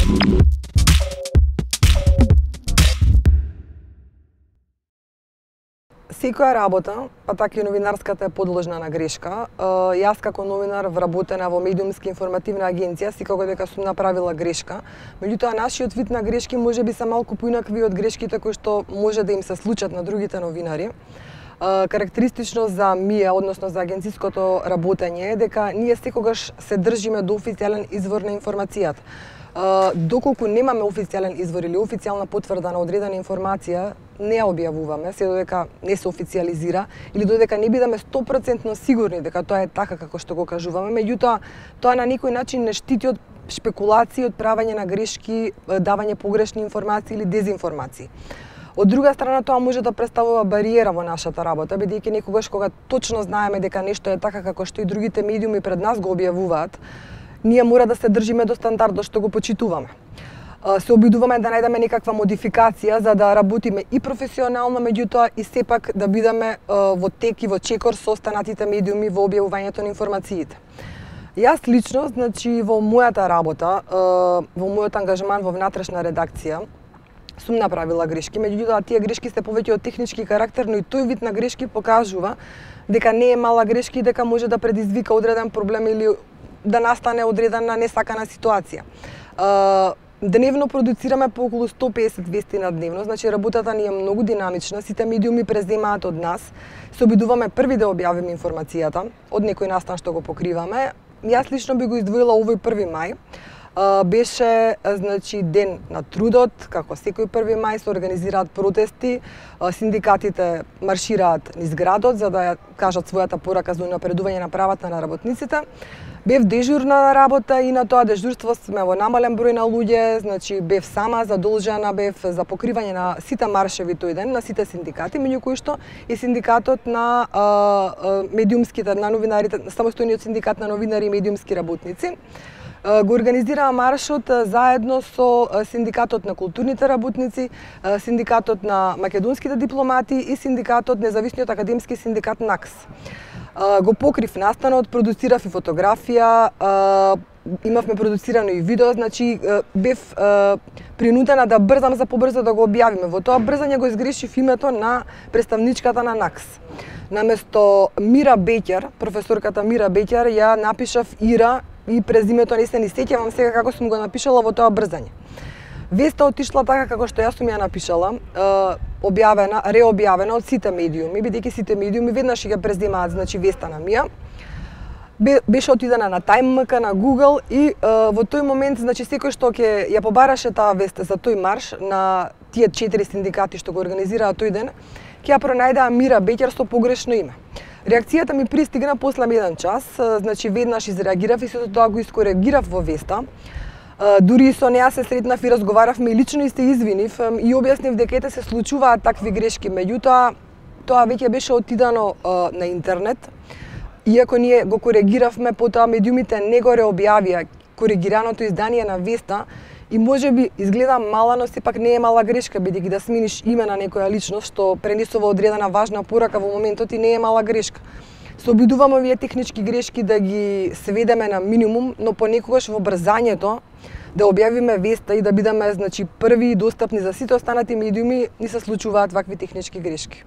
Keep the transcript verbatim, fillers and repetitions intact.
Секоја работа, па така и новинарската е подложна на грешка. Јас како новинар вработена во медиумска информативна агенција секако дека сум направила грешка. Меѓутоа нашиот вид на грешки можеби се малку поинакви од грешките кои што може да им се случат на другите новинари. Карактеристично за МИЕ, односно за агенциското работење е дека ние секогаш се држиме до официјален извор на информацијата. Доколку немаме официјален извор или официјална потврда на одредена информација, не ја објавуваме, се додека не се официјализира или додека не бидеме сто проценти сигурни дека тоа е така како што го кажуваме. Меѓутоа, тоа на некој начин не штити од шпекулации, од правење на грешки, давање погрешни информации или дезинформации. Од друга страна, тоа може да представува бариера во нашата работа, бидејќи некогаш кога точно знаеме дека нешто е така како што и другите медиуми пред нас го објавуваат, ние мора да се држиме до стандардот што го почитуваме. Се обидуваме да најдеме некаква модификација за да работиме и професионално, меѓутоа и сепак да бидеме во тек и во чекор со останатите медиуми во објавувањето на информациите. Јас лично, значи во мојата работа, во мојот ангажман во внатрешна редакција, сум направила грешки, меѓутоа тие грешки се повеќе од технички карактер, но и тој вид на грешки покажува дека не е мала грешка и дека може да предизвика одреден проблем или да настане одредена несакана ситуација. Дневно продуцираме по околу сто песет вести на дневно, значи работата ни е многу динамична, сите медиуми преземаат од нас, се обидуваме први да објавиме информацијата од некој настан што го покриваме. Јас лично би го издвоила овој први мај. Беше значи ден на трудот, како секој први мај се организираат протести, синдикатите маршираат низ градот за да ја кажат својата порака за унапредување на правата на работниците. Бев дежурна на работа и на тоа дежурство сме во намален број на луѓе, значи бев сама задолжена, бев за покривање на сите маршеви тој ден, на сите синдикати, меѓу кои што и синдикатот на а, а, медиумските, на новинарите, самостојниот синдикат на новинари и медиумски работници. Го организираа маршот заедно со синдикатот на културните работници, синдикатот на македонските дипломати и синдикатот независниот академски синдикат НАКС. Го покрив настанот, продуцирав и фотографија, имавме продуцирано и видео, значи бев принудена да брзам за побрзо да го објавиме. Во тоа брзање го изгрешив името на представничката на НАКС. Наместо Мира Беќер, професорката Мира Беќер, ја напишав Ира и презимето не се ни сеќавам сега како сум го напишала во тоа брзање. Веста отишла така како што јас сум ја напишала, објавена, реобјавена од сите медиуми, бидејќи сите медиуми веднаш ќе преземаат значи веста на Мија. Беше отидена на TimeMK, на Google и во тој момент значи секој што ќе ја побараше таа веста за тој марш на тие четири синдикати што го организираа тој ден, ќе ја пронајдеа Мира Беќер со погрешно име. Реакцијата ми пристигна после еден час, значи веднаш изреагирав и сето тоа го искоригирав во веста. Дури со неа се сретнав и разговаравме и лично и се извинив и објаснив дека ете се случуваат такви грешки, меѓутоа тоа веќе беше отидано на интернет. Иако ние го коригиравме, потоа медиумите не го реобјавија коригираното издание на веста и можеби изгледа мала, но сепак не е мала грешка, бидејќи да смениш име на некоја личност што пренесува одредена важна порака во моментот и не е мала грешка. Се обидуваме овие технички грешки да ги сведеме на минимум, но понекогаш во брзањето да објавиме веста и да бидеме значи први и достапни за сите останати медиуми, ни се случуваат вакви технички грешки.